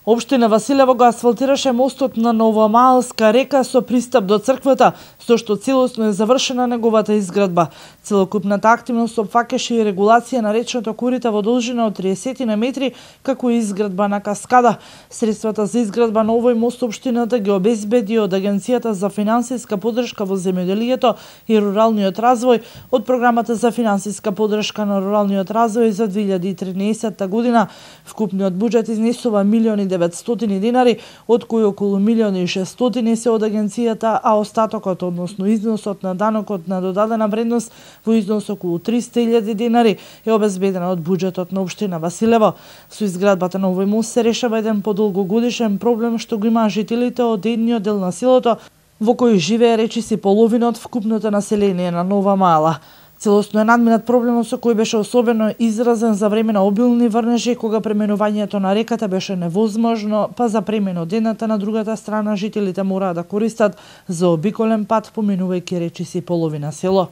Општина Василево го асфалтираше мостот на Новомаалска река со пристап до црквата, со што целосно е завршена неговата изградба. Целокупната активност опфаќаше и регулација на речното корита во должина од 30 на метри, како и изградба на каскада. Средствата за изградба на овој мост општината ги обезбеди од Агенцијата за финансиска поддршка во земјоделието и руралниот развој од програмата за финансиска поддршка на руралниот развој за 2013 година. Вкупниот буџет изнесува 1.900.000 динари, од кои околу 1.600.000 се од агенцијата, а остатокот, односно износот на данокот на додадена вредност во износ околу 300.000 динари е обезбеден од буџетот на општина Василево. Со изградбата на овој мост се решава еден подолгогодишен проблем што го имаа жителите од едниот дел на селото, во кој живее речиси половина од вкупното население на Нова Маала. Целосно е надминат проблемот со кој беше особено изразен за време на обилни врнежи, кога пременувањето на реката беше невозможно, па за премин од едната на другата страна жителите мораа да користат заобиколен пат, поминувајќи речиси половина село.